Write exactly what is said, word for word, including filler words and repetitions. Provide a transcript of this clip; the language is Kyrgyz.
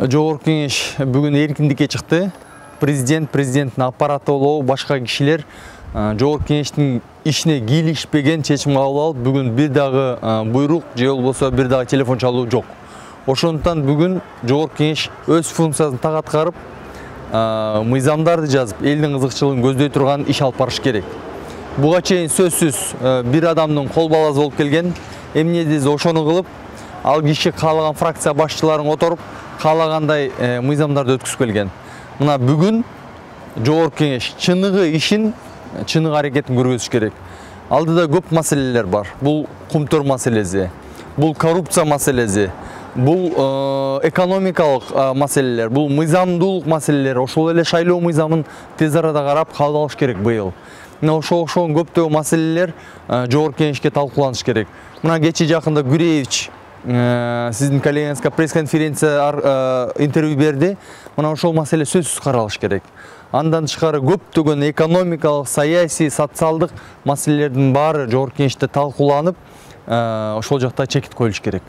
Жогорку кеңеш бүгүн эркиндикке чыкты. Президент, президенттин аппараты болобу, башка кишилер Жогорку кеңештин ишине кийлишпеген чечим кабыл алып, бүгүн бир дагы буйрук же болбосо бир дагы телефон чалуу жок. Ошондуктан бүгүн Жогорку кеңеш өз функциясын так аткарып, мыйзамдарды жазып, элдин кызыкчылыгын көздөй турган иш алып барыш керек. Буга чейин сөзсүз бир адамдын кол баласы болуп келген. Эмнедиз ошону кылып, ал киши каалаган фракция башчыларын которуп, каалагандай мыйзамдарды өткүзүп келген. Мына бүгүн Жогорку кеңеш чыныгы ишин, чыныгы аракетин көргөзүш керек. Алдыда көп маселелер бар. Бул кумтөр маселеси, бул коррупция маселеси, бул экономикалык маселелер, бул мыйзамдуулук маселелери, ошол эле шайлоо мыйзамын тез арада карап кабыл алыш керек быйыл. Мына ошол ошол көптөгөн маселелер Жогорку кеңешке талкууланыш керек. Мына кечээ жакында Гүреевич сиздин коллегаңызга пресс-конференция интервью берди. Мына ошол маселе сөзсүз каралыш керек. Андан тышкары көптөгөн экономикалык, саясий, социалдык маселелердин баары Жогорку кеңеште талкууланып, ошол жакта чекит коюлуш керек.